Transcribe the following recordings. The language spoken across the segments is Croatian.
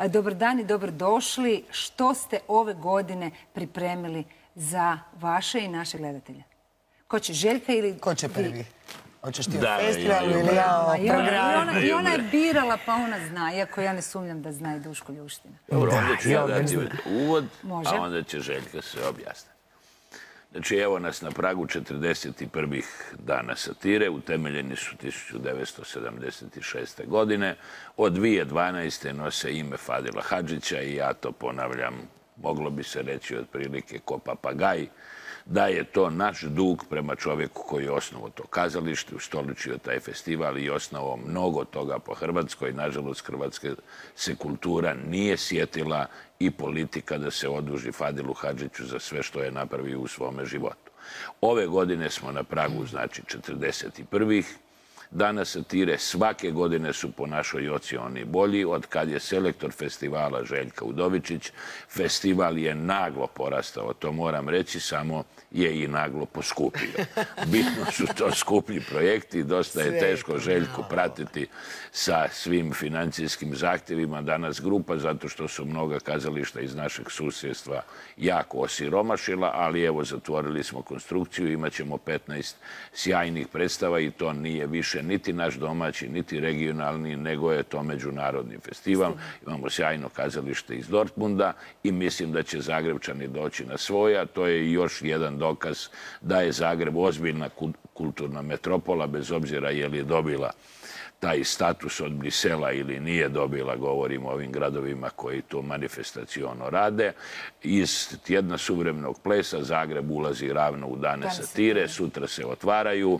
Dobar dan i dobrodošli. Što ste ove godine pripremili za vaše i naše gledatelje? Ko će, Željka ili... Ko će prvi? Hoćeš ti Da, o festivalu ili ja o programu? I ona je birala, pa ona zna, iako ja ne sumnjam da zna i Duško Ljuština. Dobro, onda ću ja dati uvod, Može. a onda će Željka sve objasniti. Znači, evo nas na pragu 41. dana satire. Utemeljeni su 1976. godine. Od 2012. nose ime Fadila Hadžića i ja to ponavljam, moglo bi se reći otprilike ko papagaj, da je to naš dug prema čovjeku koji je osnovao to kazalište, ustoličio taj festival i osnovao mnogo toga po Hrvatskoj. Nažalost, hrvatska se kultura nije sjetila i politika da se oduži Fadilu Hadžiću za sve što je napravio u svome životu. Ove godine smo na pragu, znači 41. Dana satire. Svake godine su po našoj ocjeni bolji. Od kad je selektor festivala Željka Udovičić, festival je naglo porastao, to moram reći, samo je i naglo poskupio. Bitno su to skuplji projekti, dosta je teško Željku pratiti sa svim financijskim zahtjevima danas grupa, zato što su mnoga kazališta iz našeg susjedstva jako osiromašila, ali evo zatvorili smo konstrukciju, imat ćemo 15 sjajnih predstava i to nije više niti naš domaći, niti regionalni, nego je to međunarodni festival. Imamo sjajno kazalište iz Dortmunda i mislim da će Zagrebčani doći na svoje, a to je još jedan dokaz da je Zagreb ozbiljna kulturna metropola, bez obzira je li dobila taj status od Brisela ili nije dobila, govorimo o ovim gradovima koji to manifestaciono rade. Iz tjedna suvremenog plesa Zagreb ulazi ravno u dane satire, sutra se otvaraju,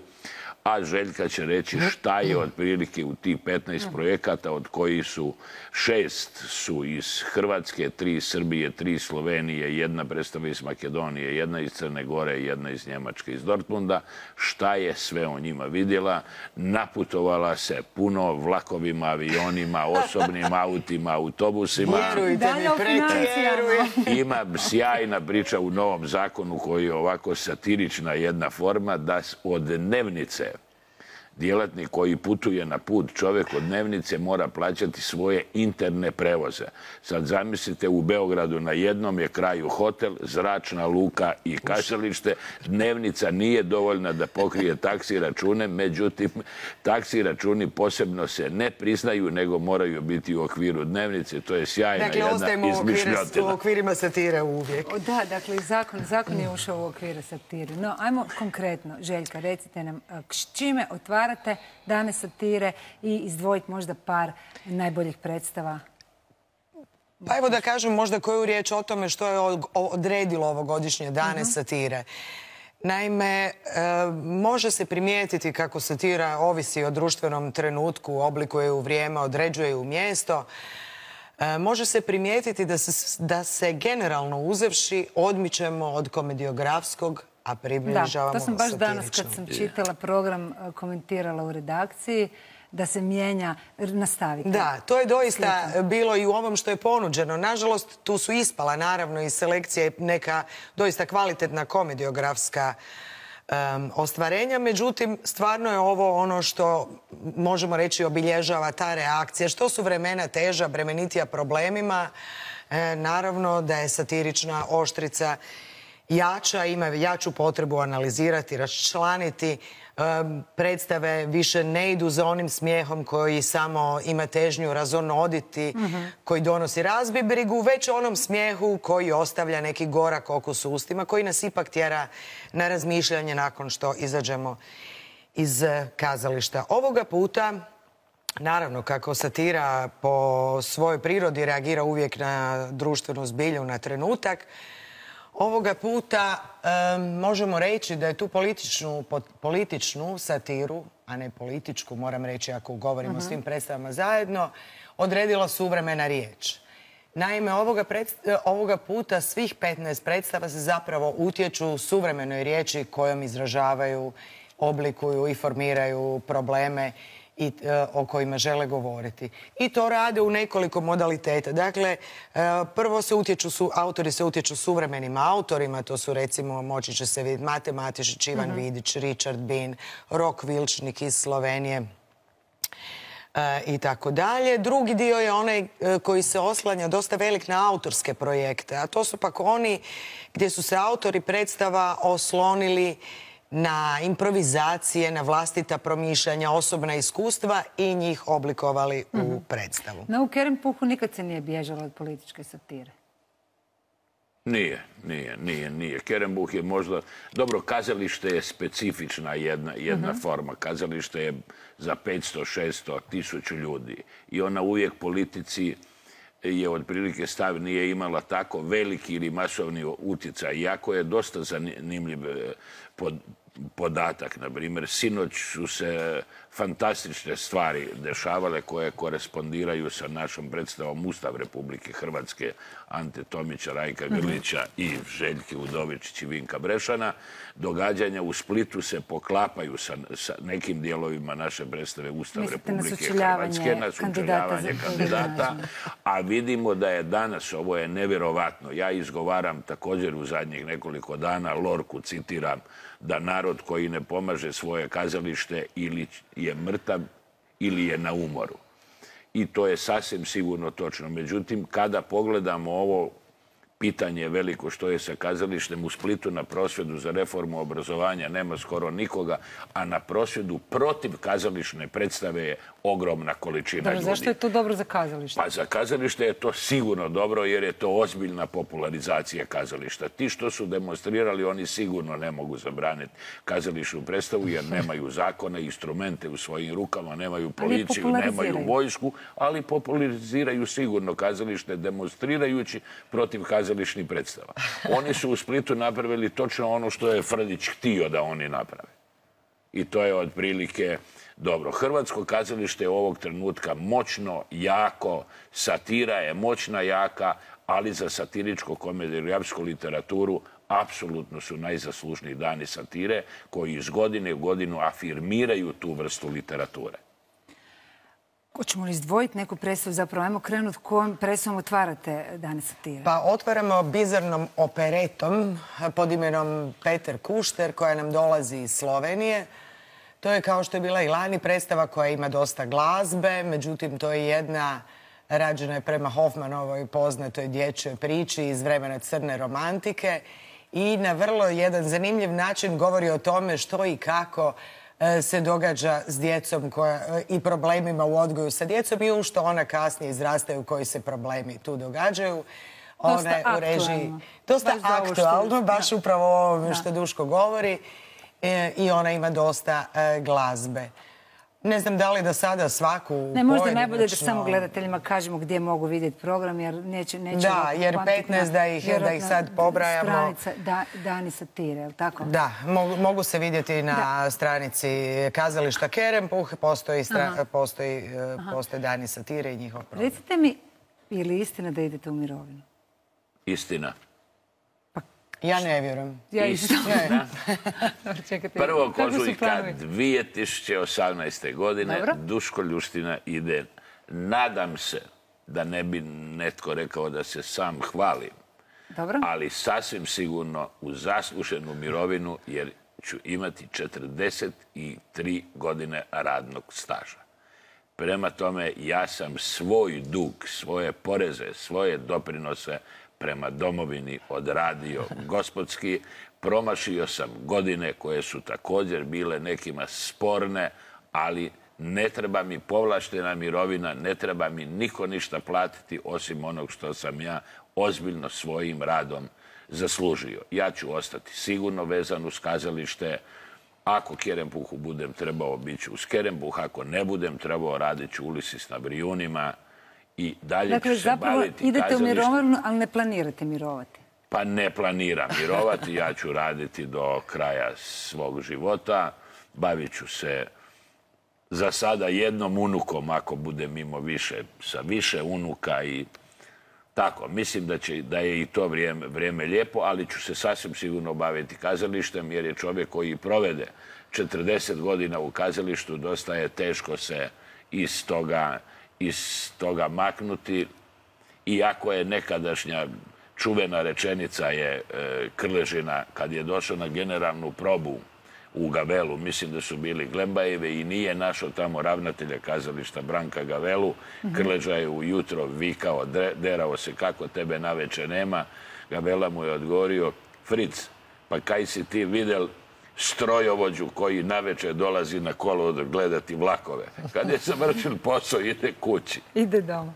a Željka će reći šta je otprilike u tih 15 projekata, od kojih su 6 su iz Hrvatske, 3 iz Srbije, 3 iz Slovenije, jedna predstava iz Makedonije, jedna iz Crne Gore, jedna iz Njemačke, iz Dortmunda. Šta je sve o njima vidjela? Naputovala se puno vlakovima, avionima, osobnim autima, autobusima. Vjerujte mi, pretjerujem. Ima sjajna priča u novom zakonu koji je ovako satirična jedna forma, da od dnevnice djelatnik koji putuje na put, čovjek od dnevnice mora plaćati svoje interne prevoze. Sad zamislite, u Beogradu na jednom je kraju hotel, zračna luka i kazalište. Dnevnica nije dovoljna da pokrije taksi račune, međutim, taksi računi posebno se ne priznaju, nego moraju biti u okviru dnevnice. To je sjajna jedna izmišljotina. Dakle, u okvirima satire uvijek. Da, dakle, zakon je ušao u okvire satire. No, ajmo konkretno, Željka, recite nam s čime otvarate dane satire i izdvojiti možda par najboljih predstava. Pa evo da kažem možda koju riječ o tome što je odredilo ovogodišnje dane satire. Naime, može se primijetiti kako satira ovisi o društvenom trenutku, oblikuje u vrijeme, određuje u mjesto. Može se primijetiti da se generalno uzevši odmičemo od komediografskog, a približavamo satiričnom. Da, to sam baš danas kad sam čitala program, komentirala u redakciji, da se mijenja, nastavite. Da, to je doista bilo i u ovom što je ponuđeno. Nažalost, tu su ispala naravno iz selekcije neka doista kvalitetna komediografska ostvarenja. Međutim, stvarno je ovo ono što možemo reći obilježava ta reakcija. Što su vremena teža, bremenitija problemima, naravno da je satirična oštrica jača, ima jaču potrebu analizirati, raščlaniti. Predstave više ne idu za onim smijehom koji samo ima težnju razonoditi, koji donosi razbibrigu, već onom smijehu koji ostavlja neki gorak okus u ustima, koji nas ipak tjera na razmišljanje nakon što izađemo iz kazališta. Ovoga puta, naravno, kako satira po svojoj prirodi reagira uvijek na društvenu zbilju, na trenutak, ovoga puta možemo reći da je tu političnu satiru, a ne političku, moram reći ako govorimo o svim predstavama zajedno, odredila suvremena riječ. Naime, ovoga puta svih 15 predstava se zapravo utječu suvremenoj riječi kojom izražavaju, oblikuju i formiraju probleme o kojima žele govoriti. I to rade u nekoliko modaliteta. Dakle, prvo autori se utječu suvremenim autorima, to su recimo, moći će se vidjeti, Mate Matešić, Ivan Vidić, Richard Bean, Rok Vilčnik iz Slovenije. i tako dalje. Drugi dio je onaj koji se oslanja dosta velik na autorske projekte, a to su pak oni gdje su se autori predstava oslonili na improvizacije, na vlastita promišljanja, osobna iskustva i njih oblikovali u predstavu. No, u Kerempuhu nikad se nije bježalo od političke satire. Nije. Kerempuh je možda... Dobro, kazalište je specifična jedna forma. Kazalište je za 500, 600, 1000 ljudi. I ona uvijek politici je otprilike stav nije imala tako veliki ili masovni utjecaj. Iako je dosta zanimljiv podatak. Na primjer, sinoć su se fantastične stvari dešavale koje korespondiraju sa našom predstavom Ustav Republike Hrvatske Ante Tomića, Rajka Grlića i Željke Udovičić i Vinka Brešana. Događanja u Splitu se poklapaju sa nekim dijelovima naše predstave Ustav Republike Hrvatske, na sučeljavanje kandidata, a vidimo da je danas, ovo je nevjerovatno, ja izgovaram također u zadnjih nekoliko dana, Lorku citiram, da narod koji ne pomaže svoje kazalište ili je mrtav ili je na umoru. I to je sasvim sigurno točno. Međutim, kada pogledamo ovo pitanje veliko što je sa kazalištem u Splitu na prosvjedu za reformu obrazovanja, nema skoro nikoga, a na prosvjedu protiv kazališne predstave je ogromna količina ljudi. Zašto je to dobro za kazalište? Pa za kazalište je to sigurno dobro jer je to ozbiljna popularizacija kazališta. Ti što su demonstrirali, oni sigurno ne mogu zabraniti kazališnu predstavu jer nemaju zakone, instrumente u svojim rukama, nemaju policiju, nemaju vojsku, ali populariziraju sigurno kazalište demonstrirajući protiv kazališnih predstava. Oni su u Splitu napravili točno ono što je Frljić htio da oni naprave. I to je otprilike dobro. Hrvatsko kazalište je ovog trenutka moćno, jako, satira je moćna, jaka, ali za satiričko-komediografsku literaturu apsolutno su najzaslužniji dani satire koji iz godine u godinu afirmiraju tu vrstu literature. Hoćemo li izdvojiti neku predstavu? Zapravo, ajmo krenuti kojom predstavom otvarate dane satire? Pa otvaramo bizarnom operetom pod imenom Peter Kušter koja nam dolazi iz Slovenije. To je kao što je bila i lani predstava koja ima dosta glazbe, međutim to je jedna rađena je prema Hoffmanovoj poznatoj dječjoj priči iz vremena crne romantike i na vrlo jedan zanimljiv način govori o tome što i kako se događa s djecom i problemima u odgoju sa djecom i u što ona kasnije izrastaju, koji se problemi tu događaju. Dosta aktualno. Dosta aktualno, baš upravo o ovome što Duško govori. I ona ima dosta glazbe. Ne znam da li da sada svaku pojedinačno... Ne, možda najbolje da samo gledateljima kažemo gdje mogu vidjeti program, jer neće... Da, jer 15 da ih sad pobrajamo... Stranica Dani satire, je li tako? Da, mogu se vidjeti na stranici kazališta Kerempuh, postoji Dani satire i njihov program. Recite mi, je li istina da idete u mirovinu? Istina. Ja ne vjerujem. Istina. 1. ožujka 2018. godine Duško Ljuština ide. Nadam se da ne bi netko rekao da se sam hvalim, ali sasvim sigurno u zasluženu mirovinu jer ću imati 43 godine radnog staža. Prema tome, ja sam svoj dug, svoje poreze, svoje doprinose prema domovini odradio gospodski. Promašio sam godine koje su također bile nekima sporne, ali ne treba mi povlaštena mirovina, ne treba mi niko ništa platiti osim onog što sam ja ozbiljno svojim radom zaslužio. Ja ću ostati sigurno vezan uz kazalište. Ako Kerempuhu budem trebao, bit ću uz Kerempuh. Ako ne budem trebao, radit ću Ulisis na Brijunima. I dalje ću se baviti kazalištem. Dakle, zapravo idete u mirovinu, ali ne planirate mirovati? Pa ne planiram mirovati. Ja ću raditi do kraja svog života. Bavit ću se za sada jednom unukom, ako budem imao sa više unuka i tako. Mislim da je i to vrijeme lijepo, ali ću se sasvim sigurno baviti kazalištem, jer je čovjek koji provede 40 godina u kazalištu, dosta je teško se iz toga maknuti. Iako je nekadašnja čuvena rečenica je Krležina, kad je došao na generalnu probu u Gavelu. Mislim da su bili Glembajeve i nije našao tamo ravnatelja kazališta Branka Gavelu. Krleža je ujutro vikao, derao se kako tebe naveče nema. Gavela mu je odgovorio, Fric, pa kaj si ti videl strojovođu koji naveče dolazi na kolodvor gledati vlakove. Kad je završil posao, ide kući. Ide doma.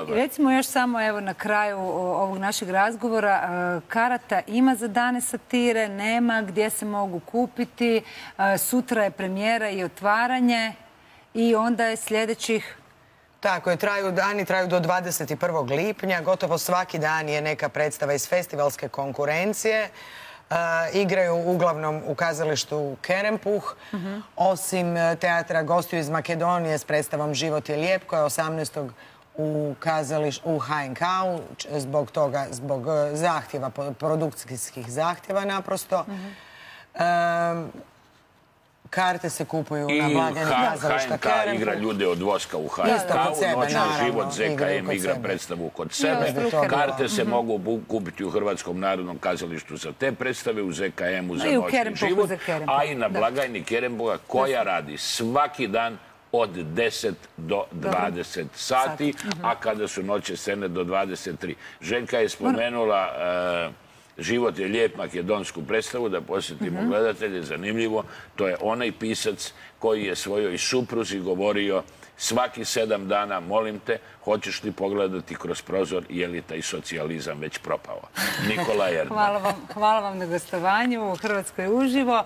Recimo još samo evo na kraju ovog našeg razgovora, karata ima za dane satire, nema, gdje se mogu kupiti, sutra je premijera i otvaranje i onda je sljedećih... Tako je, dani traju do 21. lipnja, gotovo svaki dan je neka predstava iz festivalske konkurencije. Igraju uglavnom u kazalištu Kerempuh, osim teatra gostiju iz Makedonije s predstavom Život je lijep, koja je 18. u HNK-u, zbog zahtjeva, produkcijskih zahtjeva naprosto. Karte se kupuju na blagajni kazališta Kerempuh. HNK igra ljude od voska u HNK-u, Noćni život ZKM igra predstavu kod sebe. Karte se mogu kupiti u Hrvatskom narodnom kazalištu za te predstave, u ZKM-u za Noćni život, a i na blagajni Kerempuha koja radi svaki dan od 10 do 20 sati, a kada su noće scene do 23. Željka je spomenula Život je lijep, makedonsku predstavu, da posjetimo gledatelje, zanimljivo. To je onaj pisac koji je svojoj supruzi govorio svaki 7 dana, molim te, hoćeš li pogledati kroz prozor, je li taj socijalizam već propao? Nikola Erdman. Hvala vam na gostovanju u Hrvatskoj uživo.